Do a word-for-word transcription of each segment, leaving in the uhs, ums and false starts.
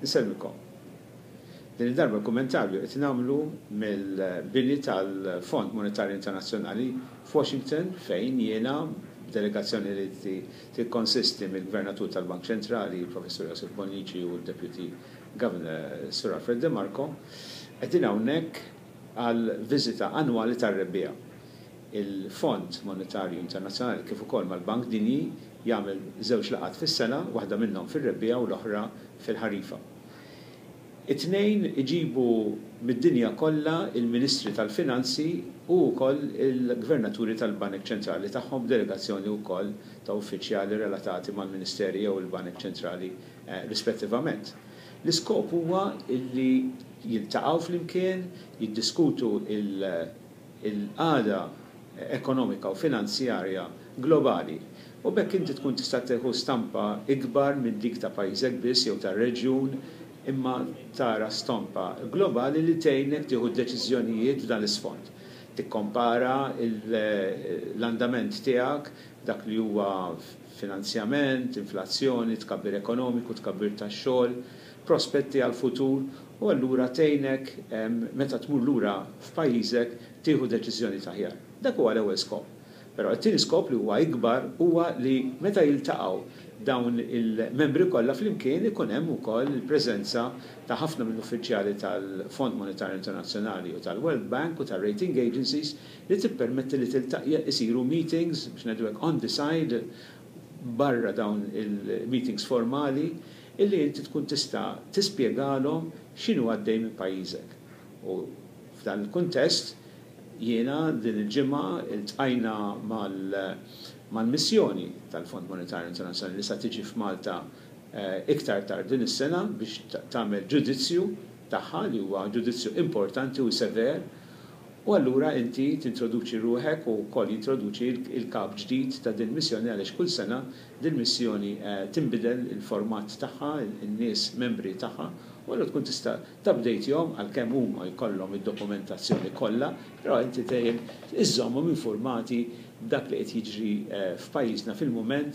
Insellmilkom. Din id-darba l-kummentarju qed nagħmlu mill-bini tal-Fond Monetarju Internazzjonali f'Washington, fejn jiena delegazzjoni li tikkonsisti mill-Gvernatur tal-Bank Ċentrali, Professur Josef Bonnici, u l-Deputy Governor Sir Alfred De Marco, qegħdin hawnhekk għal viżita annwali tar-rebbiegħa. Il-Fond Monetarju Internazzjonali, kif ukoll mal-Bank Dinji, jagħmel żewġ laqgħat fis-sena, waħda minnhom fir-rebbiegħa u l-oħra fil-ħarifa. It-tnejn iġibu mid-dinja kollha il-Ministri tal-Finanzi u wkoll il-Gvernaturi tal-Banek Ċentrali tagħhom, delegazzjoni wkoll ta' uffiċjali relatati mal-Ministeri jew il-Banek Ċentrali rispettivament. L-iskop huwa li jiltaqgħu flimkien, jiddiskutu il-qagħda ekonomika u finanzjarja globali. U b'hekk inti tkun tista' tieħu stampa ikbar minn dik ta' pajjiżek biss jew tar-reġjun, imma tara stampa globali li tgħinek tieħu deċiżjonijiet f'dan l-isfond. Tikkompara l-andament tiegħek, dak li huwa finanzjament, inflazzjoni, tkabbir ekonomiku, tkabbir tax-xogħol, prospetti għal-futur, u allura tgħinek meta tmur lura f'pajjiżek tieħu deċiżjoni aħjar. Dak huwa l-ewwel skop. Però t-tieni skop, li huwa ikbar, huwa li meta jiltaqgħu dawn il-membri kollha flimkien ikun hemm ukoll il-preżenza ta' ħafna mill-uffiċjali tal-Fond Monetarju Internazzjonali u tal-World Bank u tal-rating agencies, li tippermetti li tiltaqja isiru meetings, biex ngħidu hekk, on the side, barra dawn il-meetings formali, illi inti tkun tista' tispjegalhom x'inhu għaddej minn pajjiżek. U f'dan il-kuntest jiena din il-ġimgħa iltqajna mal-missjoni tal-Fond Monetarju Internazzjonali li sa tiġi f'Malta iktar tard din is-sena biex tagħmel ġudizzju tagħha, li huwa ġudizzju importanti u sever, u allura inti tintroduċi ruħek u wkoll jintroduċi il-kap ġdid ta' din missjoni, għaliex kull sena din missjoni tinbidel il-format tagħha, in-nies membri tagħha, u allura tkun tista' tupdate-jhom, għalkemm huma jkollhom id-dokumentazzjoni kollha, però inti dejjem iżżommhom informati b'dak li qed jiġri f'pajjiżna fil-mument,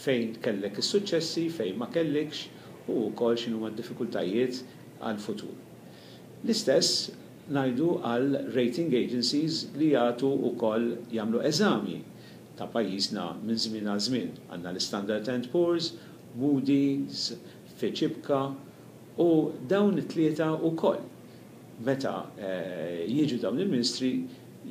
fejn kellek is-suċċessi, fejn ma kellikx, u wkoll x'inhuma d-diffikultajiet għal-futur. L-istess ngħidu għal rating agencies li jagħtu wkoll jagħmlu eżami ta' pajjiżna minn żmien għal żmien. Għandna l-Standard and Poor's, Moody's, Fitch I B C A, u dawn it-tlieta wkoll meta jiġu dawn il-ministri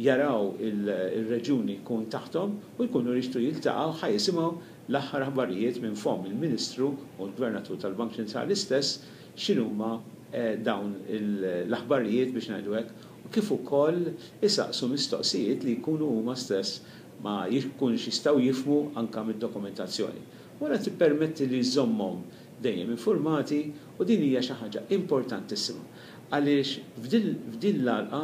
jaraw il-reġjuni jkun taħtom u jkunu jixtiequ jiltaqgħu ħa jisimgħu l-aħħar aħbarijiet minn fomm il-Ministru u l-Gvernatur tal-Bank Ċentrali stess, x'inhuma dawn l-aħbarijiet, biex ngħidu hekk, u kif ukoll isaqsu mistoqsijiet li jkunu huma stess ma jkunux jistgħu jifhmu anka mid-dokumentazzjoni. Wara tippermetti li jżommhom dejjem informati, u din hija xi ħaġa importantissima. Għaliex f'din l-għalqa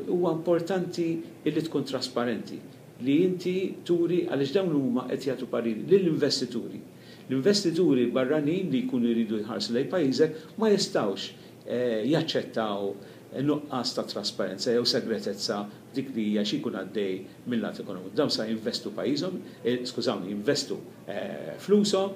huwa importanti illi tkun trasparenti, li inti turi, għaliex dawn huma qed jagħtu pariri lill-investituri. L-investituri barranin li jkunu jridu jħarsu lejn pajjiżek ma jistgħux jaċċettaw nuqqas ta' trasparenza jew segretezza dik li hija xi jkun għaddej mill-lat ekonomiku. Dawn sa jinvestu pajjiżhom, skużawni, jinvestu flushom,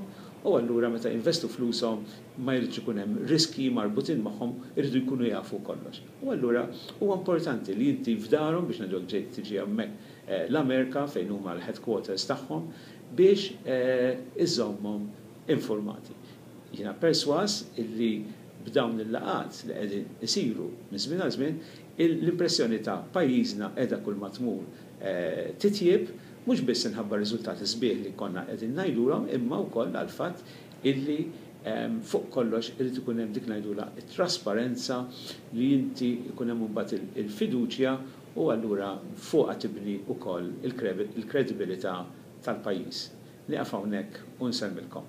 u allura meta jinvestu flushom ma jridx ikun hemm riski marbutin magħhom, iridu jkunu jafu kollox. U allura huwa importanti li inti f'darhom, biex ngħidu, ġejt tiġi hemmhekk l-Amerika fejn huma l-headquarters tagħhom, biex iżommhom informati. Jiena perswas illi b'dawn il-laqgħat li qegħdin isiru minn żmien għal żmien, l-impressjoni ta' pajjiżna qiegħda kull ma tmur titjib, mhux biss inħabba riżultati sbieħ li konna qegħdin ngħidulhom, imma wkoll għall-fatt illi fuq kollox irid ikun hemm dik ngħidulha it-trasparenza, li inti jkun hemm imbagħad il-fiduċja, u allura fuqha tibni wkoll il-kredibilità tal-pajjiż. Nieqaf hawnhekk u nsellmilkom.